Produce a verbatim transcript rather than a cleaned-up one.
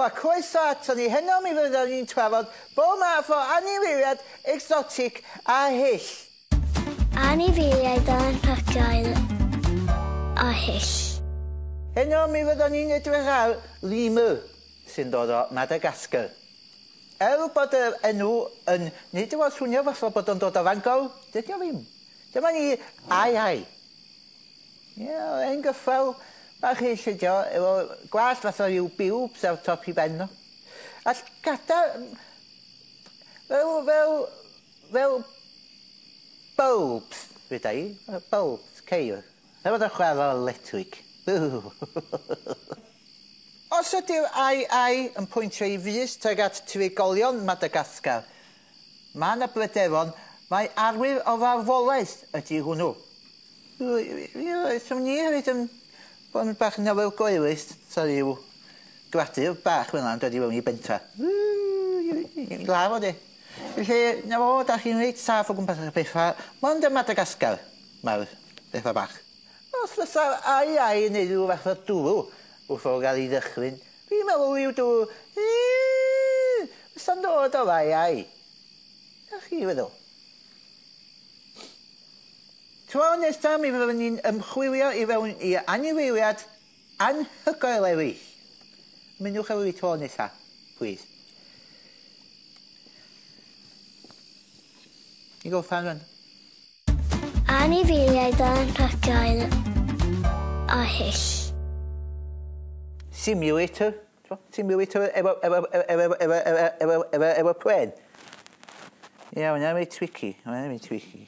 a croeso ato ni. Heno mi fyddwn ni'n trafod bob math o anifeiliaid exotic a hyll. Anifeiliaid anhygoel a hyll. Heno mi fyddwn ni'n edrych ar lemur sy'n dod o Madagascar. Er bod yr enw yn nid yw o'n swnio fatha bod o'n dod o Fangor, dydy o ddim. Dyma ni ai ai. Ie, ein gyffel bach hyll ydi o, efo gwallt fatha ryw bubes ar top i ben o. A llgada fel, fel, fel bulbs, fydda i, bulbs, ceir. Efo bod yn chwarae electric. Os ydy'r ai ai yn pwyntio i fys tuag at trigolion Madagascar, mae yna bryderon mai arwydd o farwolaeth ydy hwnnw. Swn i hefyd yn bod yn bach yn ofergoelus, sa ryw gradur bach fel 'na'n dod i fewn i bentra. Ladd o de. Felly, 'na fo, dach chi'n reit saff o gwmpas y petha, mond ym Madagascar mae'r petha bach. Os fysa'r ai ai yn neud ryw fath o dwrw wrth o gael ei ddychryn, fi'n meddwl ryw dwrw, fysa'n dod o'r ai ai. Dach chi feddwl? Tro nesa mi fyddwn ni'n ymchwilio i fewn i anifeiliaid anhygoel eraill. Ymunwch efo fi tro nesa, plîs. I gorffan rŵan. Anifeiliaid anhygoel a hyll. Simulator. Simulator efo, efo, efo, efo, efo, efo, efo, efo pren. Ie, hwnna'n reit tricky. Hwnna'n reit tricky.